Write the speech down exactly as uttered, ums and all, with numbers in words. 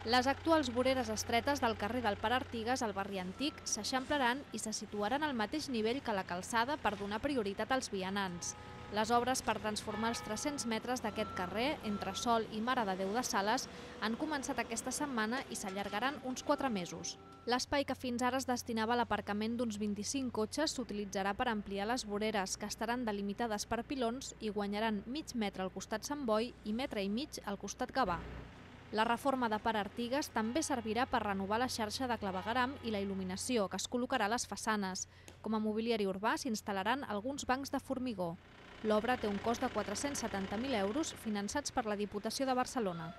Les actuals voreres estretes del carrer del Pare Artigas al barri antic s'eixamplaran i se situaran al mateix nivell que la calçada per donar prioritat als vianants. Les obres per transformar els tres-cents metres d'aquest carrer, entre Sol i Mare de Déu de Sales, han començat aquesta setmana i s'allargaran uns quatre mesos. L'espai que fins ara es destinava a l'aparcament d'uns vint-i-cinc cotxes s'utilitzarà per ampliar les voreres, que estaran delimitades per pilons i guanyaran mig metre al costat Sant Boi i metre i mig al costat Gavà. La reforma de Pare Artigas també servirà per renovar la xarxa de clavegueram i la il·luminació que es col·locarà a les façanes. Com a mobiliari urbà s'instal·laran alguns bancs de formigó. L'obra té un cost de quatre-cents setanta mil euros finançats per la Diputació de Barcelona.